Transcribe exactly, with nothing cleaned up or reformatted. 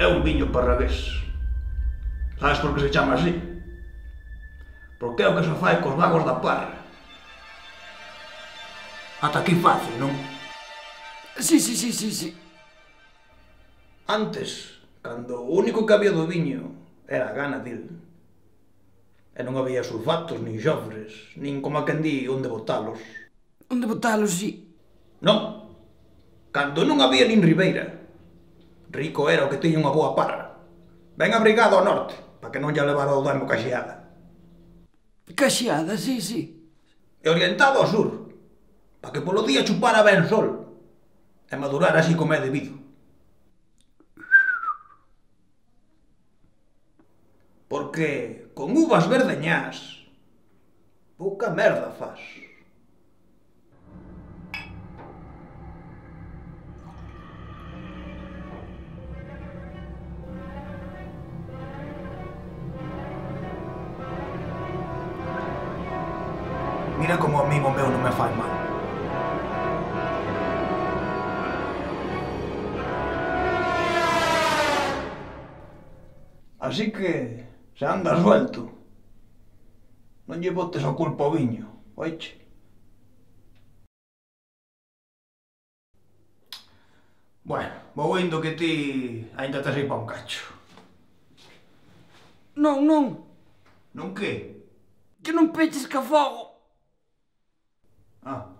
é un viño parravés. Sabes por que se chama así? Porque é o que se fai cos vagos da parra. Ata aquí fácil, non? Sí, sí, sí, sí, sí. Antes, cando o único que había do viño era a gana dil, e non había sulfatos, nin xofres, nin, como a quen di, onde botalos. Onde botalos, sí. Non, cando non había nin ribeira. Rico era o que tiña unha boa parra. Ben abrigado ao norte, para que non lle levara o demo caxeada. Caxeada, sí, sí. E orientado ao sur, para que polo día chupara ben sol e madurara así como é debido. Porque con uvas verdeñás pouca merda fas. Mira como a mí o meu non me fai mal. Así que, se andas suelto, non lle botes a culpa ao viño, oiche? Bueno, vou indo que ti aínda tes aí pa un cacho. Non, non. Non que? Que non peches que afogo. Ah.